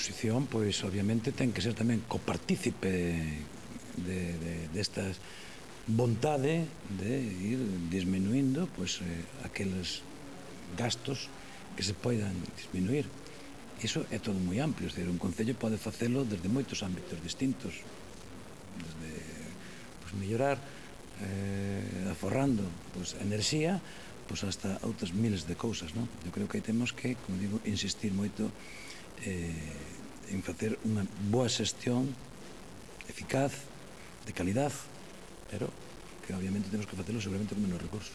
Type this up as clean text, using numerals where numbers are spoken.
oposición, pois, obviamente, ten que ser tamén copartícipe desta vontade de ir disminuindo aqueles gastos que se poidan disminuir. Iso é todo moi amplio, un concello pode facelo desde moitos ámbitos distintos, desde mellorar aforrando enerxía hasta outras miles de cousas. Eu creo que aí temos que, como digo, insistir moito en facer unha boa xestión eficaz, de calidad, pero que obviamente temos que facelo seguramente con menos recursos.